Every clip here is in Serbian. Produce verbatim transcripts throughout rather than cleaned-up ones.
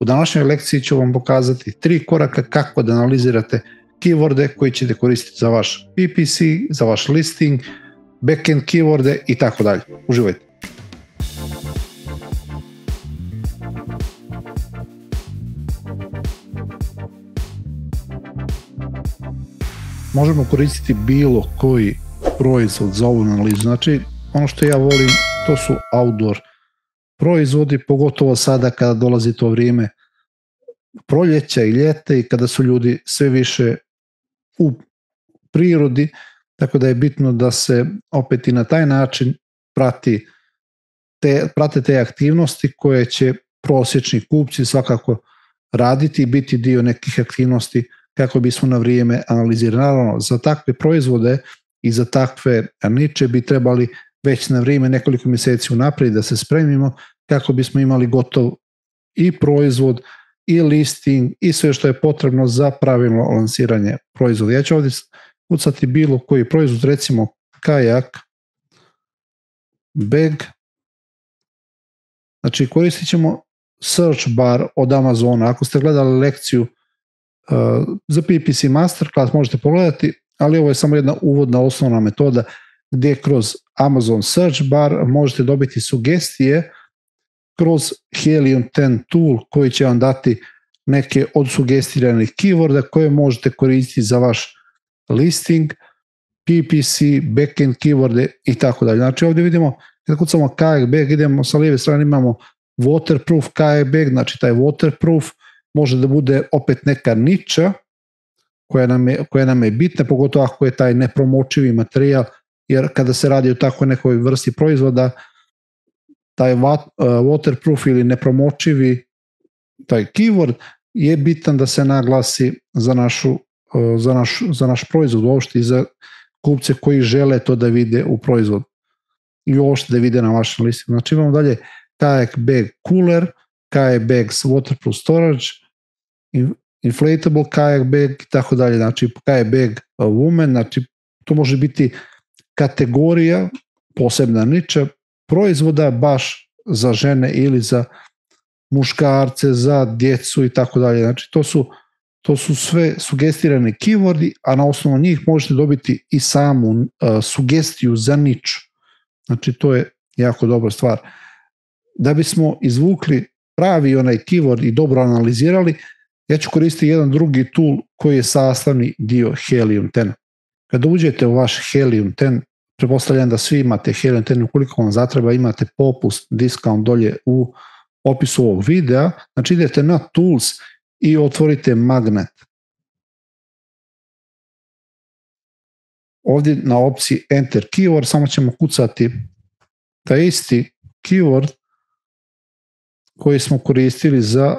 U današnjoj lekciji ću vam pokazati tri koraka kako da analizirate keyworde koji ćete koristiti za vaš P P C, za vaš listing, backend keyworde i tako dalje. Uživajte! Možemo koristiti bilo koji proizvod za ovu analizu. Znači, ono što ja volim, to su outdoor proizvodi, pogotovo sada kada dolazi to vrijeme proljeća i ljeta i kada su ljudi sve više u prirodi, tako da je bitno da se opet i na taj način prati te, prate te aktivnosti koje će prosječni kupci svakako raditi i biti dio nekih aktivnosti kako bismo na vrijeme analizirali. Naravno, za takve proizvode i za takve niče bi trebali već na vrijeme nekoliko mjeseci unaprijed da se spremimo kako bismo imali gotov i proizvod i listing i sve što je potrebno za pravilno lansiranje proizvoda. Ja ću ovdje kucati bilo koji proizvod, recimo kajak bag. Znači koristit ćemo search bar od Amazona. Ako ste gledali lekciju uh, za P P C Masterclass možete pogledati, ali ovo je samo jedna uvodna osnovna metoda gdje kroz Amazon search bar možete dobiti sugestije kroz Helium deset tool koji će vam dati neke od sugestiranih keyworda koje možete koristiti za vaš listing, P P C, backend keyworde i tako dalje. Znači ovdje vidimo, kada kucamo kajak bag, idemo sa lijeve strane, imamo waterproof kajak bag, znači taj waterproof može da bude opet neka niča koja nam je, koja nam je bitna, pogotovo ako je taj nepromočivi materijal, jer kada se radi o takvoj nekoj vrsti proizvoda, taj waterproof ili nepromočivi taj keyword je bitan da se naglasi za, našu, za, naš, za naš proizvod uopšte i za kupce koji žele to da vide u proizvodu i uopšte da vide na vašem listu. Znači imamo dalje kajak bag cooler, kajak bag waterproof storage, inflatable kajak bag i tako dalje. Znači kajak bag woman, znači to može biti kategorija, posebna niča proizvoda baš za žene ili za muškarce, za djecu i tako dalje. Znači to su, to su sve sugestirane keywordi, a na osnovu njih možete dobiti i samu uh, sugestiju za niču. Znači to je jako dobra stvar. Da bismo izvukli pravi onaj keyword i dobro analizirali, ja ću koristiti jedan drugi tool koji je sastavni dio Helium deset. Kada uđete u vaš Helium deset, pretpostavljam da svi imate Helium deset, ukoliko vam zatreba imate popust, discount dolje u opisu ovog videa, znači idete na Tools i otvorite Magnet. Ovdje na opciji Enter Keyword samo ćemo kucati taj isti keyword koji smo koristili za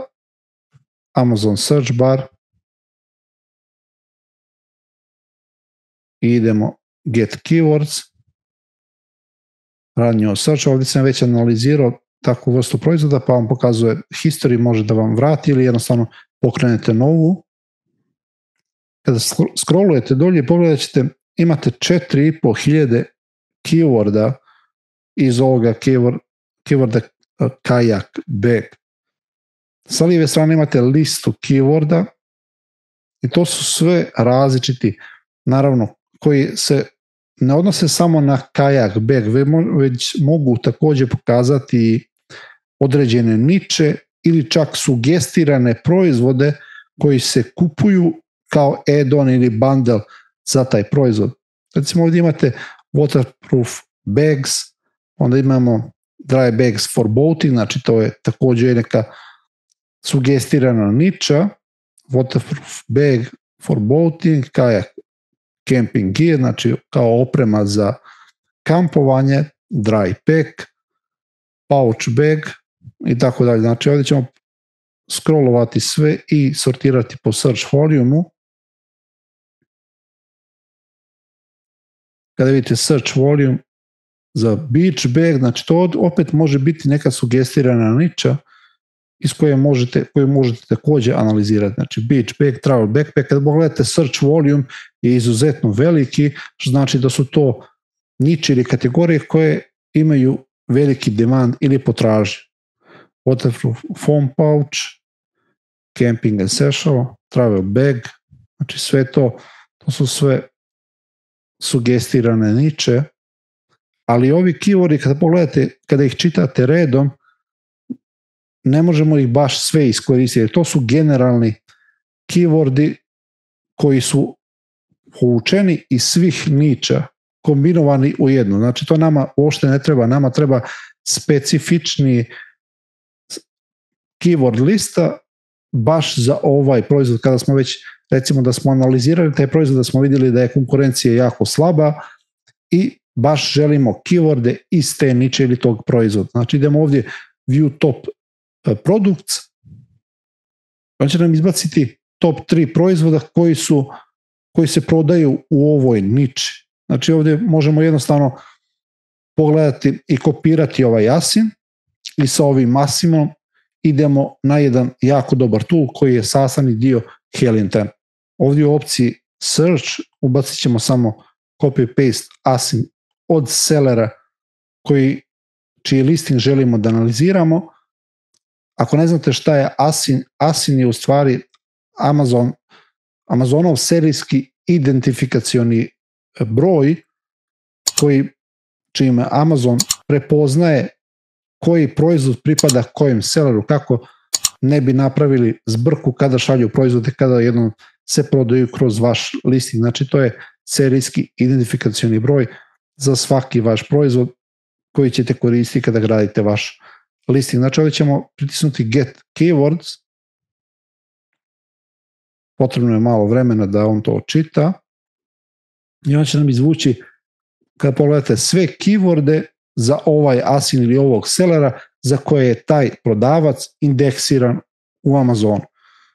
Amazon Search Bar i idemo Get Keywords, Run Your Search. Ovdje sam već analizirao takvu vrstu proizvoda pa vam pokazuje history, može da vam vrati ili jednostavno pokrenete novu. Kada scrollujete dolje pogledat ćete, imate četiri i po hiljade keyworda iz ovoga keyword, keyworda kajak bag. Sa lijeve strane imate listu keyworda i to su sve različiti, naravno, koji se ne odnose samo na kajak bag, već mogu također pokazati određene niče ili čak sugestirane proizvode koji se kupuju kao add-on ili bundle za taj proizvod. Recimo ovdje imate waterproof bags, onda imamo dry bags for boating, znači to je također neka sugestirana niča, waterproof bag for boating, kajak camping gear, znači kao oprema za kampovanje, dry pack, pouch bag i tako dalje. Znači ovdje ćemo scrollovati sve i sortirati po search volume-u. Kada vidite search volume za beach bag, znači to opet može biti neka sugestirana niča iz koje možete, koju možete također analizirati. Znači beach bag, travel backpack, kada pogledate search volume je izuzetno veliki, što znači da su to niče ili kategorije koje imaju veliki demand ili potražnju. Waterproof foam pouch, camping essential, travel bag, znači sve to, to su sve sugestirane niče, ali ovi keywordi kada pogledate, kada ih čitate redom, ne možemo ih baš sve iskoristiti. To su generalni keywordi koji su povučeni iz svih niča, kombinovani u jednu. Znači to nama uopšte ne treba, nama treba specifični keyword lista baš za ovaj proizvod. Kada smo već, recimo da smo analizirali taj proizvod, da smo vidjeli da je konkurencija jako slaba i baš želimo keyworde iz te niče ili tog proizvoda. Znači idemo ovdje view top products, on će nam izbaciti top tri proizvoda koji su koji se prodaju u ovoj niči. Znači ovdje možemo jednostavno pogledati i kopirati ovaj asin i sa ovim asimom idemo na jedan jako dobar tool koji je sastavni dio Helium. Ovdje u opciji search ubacit ćemo samo copy-paste asin od sellera koji, čiji listing želimo da analiziramo. Ako ne znate šta je asin, asin je u stvari Amazon, Amazonov serijski identifikacioni broj koji, čime Amazon prepoznaje koji proizvod pripada kojem selleru, kako ne bi napravili zbrku kada šalju proizvode, kada jednom se prodaju kroz vaš listing. Znači to je serijski identifikacioni broj za svaki vaš proizvod koji ćete koristiti kada gradite vaš listing. Znači ovdje ćemo pritisnuti get keywords, potrebno je malo vremena da on to čita i on će nam izvući, kada pogledate sve keyworde za ovaj asin ili ovog sellera za koje je taj prodavac indeksiran u Amazonu.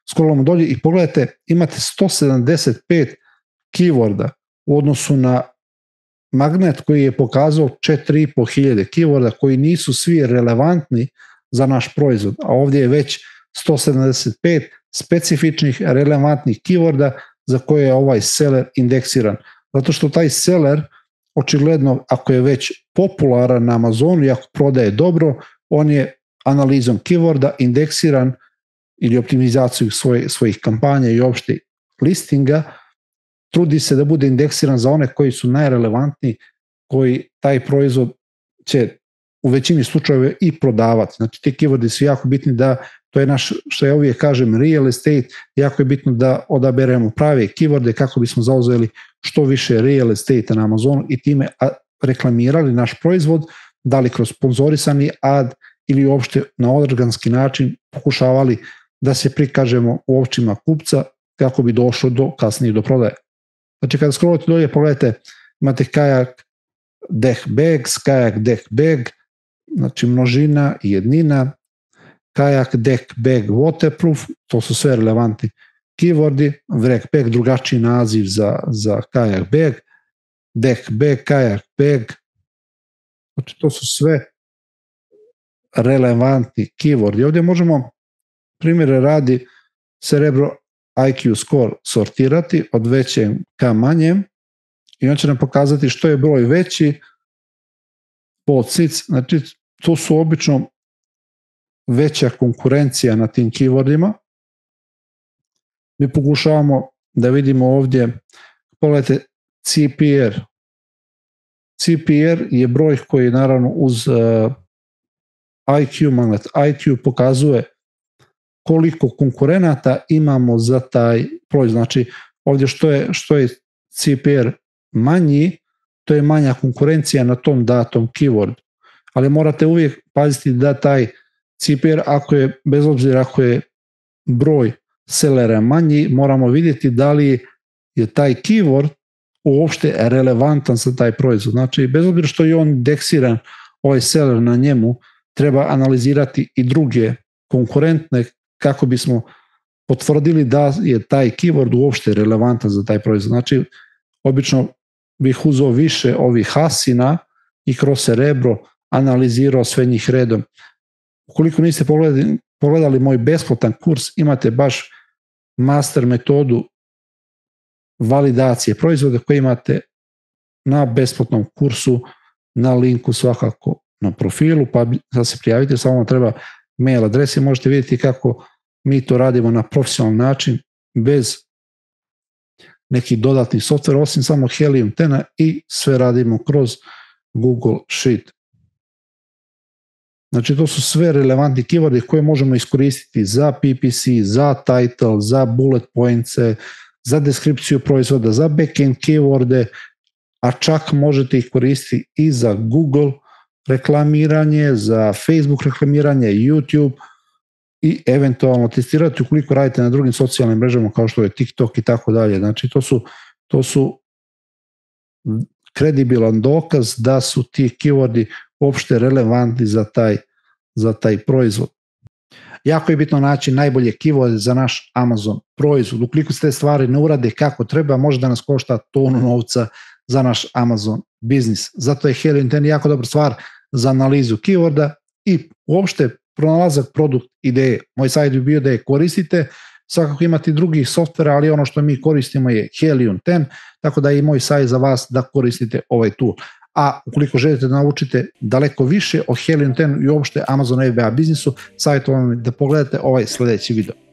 Scrollamo dolje i pogledajte, imate sto sedamdeset pet keyworda u odnosu na Magnet koji je pokazao četiri i po hiljade keyworda koji nisu svi relevantni za naš proizvod, a ovdje je već sto sedamdeset pet specifičnih relevantnih keyworda za koje je ovaj seller indeksiran. Zato što taj seller očigledno, ako je već popularan na Amazonu i ako prodaje dobro, on je analizom keyworda indeksiran ili optimizaciju svoje, svojih kampanja i opšte listinga, trudi se da bude indeksiran za one koji su najrelevantniji, koji taj proizvod će u većini slučajeva i prodavati. Znači ti keywordi su jako bitni da, to je naš, što ja uvijek kažem, real estate, jako je bitno da odaberemo prave keyworde kako bismo zauzeli što više real estate na Amazonu i time reklamirali naš proizvod, da li kroz sponzorisani ad ili uopšte na organski način pokušavali da se prikažemo u očima kupca kako bi došlo do kasnije do prodaje. Znači kada scrollate dolje pogledajte, imate kajak deck bags, kajak deck bag, znači množina i jednina, kajak deck bag waterproof, to su sve relevantni keywordi, wreck bag, drugačiji naziv za, za kajak bag, deck bag, kajak bag, znači to su sve relevantni keywordi. Ovdje možemo, primjere radi, Cerebro I Q score sortirati od većeg ka manjem i on će nam pokazati što je broj veći po cic, znači to su obično veća konkurencija na tim keywordima. Mi pokušavamo da vidimo ovdje, pogledajte C P R. C P R je broj koji naravno uz uh, I Q, magnet I Q pokazuje koliko konkurenata imamo za taj proizvod. Znači ovdje što je, što je C P R manji, to je manja konkurencija na tom datom keyword. Ali morate uvijek paziti da taj C P R, ako je, bez obzira ako je broj sellera manji, moramo vidjeti da li je taj keyword uopšte relevantan za taj proizvod. Znači, bez obzira što je on indeksiran, ovaj seller na njemu, treba analizirati i druge konkurentne kako bismo potvrdili da je taj keyword uopšte relevantan za taj proizvod. Znači, obično bih uzeo više ovih asina i kroz Cerebro analizirao sve njih redom. Ukoliko niste pogledali, pogledali moj besplatan kurs, imate baš master metodu validacije proizvoda koji imate na besplatnom kursu, na linku svakako na profilu, pa da se prijavite, samo vam treba mail adres i možete vidjeti kako mi to radimo na profesionalan način, bez nekih dodatnih softvera, osim samo Helium deset i sve radimo kroz Google Sheet. Znači to su sve relevantni keywordi koje možemo iskoristiti za P P C, za title, za bullet points, za deskripciju proizvoda, za backend keyworde, a čak možete ih koristiti i za Google reklamiranje, za Facebook reklamiranje, YouTube i eventualno testirati ukoliko radite na drugim socijalnim mrežama kao što je TikTok i tako dalje. Znači to su, to su kredibilan dokaz da su ti keywordi uopšte relevantni za taj, za taj proizvod. Jako je bitno naći najbolje keyworde za naš Amazon proizvod. Ukoliko se te stvari ne urade kako treba, može da nas košta tonu novca za naš Amazon biznis. Zato je Helium deset jako dobra stvar za analizu keyworda i uopšte pronalazak produkt ideje. Moj savjet bi bio da je koristite, svakako imate drugih softvera, ali ono što mi koristimo je Helium deset, tako da je i moj savjet za vas da koristite ovaj tool. A ukoliko želite da naučite daleko više o Helium deset i uopšte Amazon F B A biznisu, savjetujem vam da pogledate ovaj sledeći video.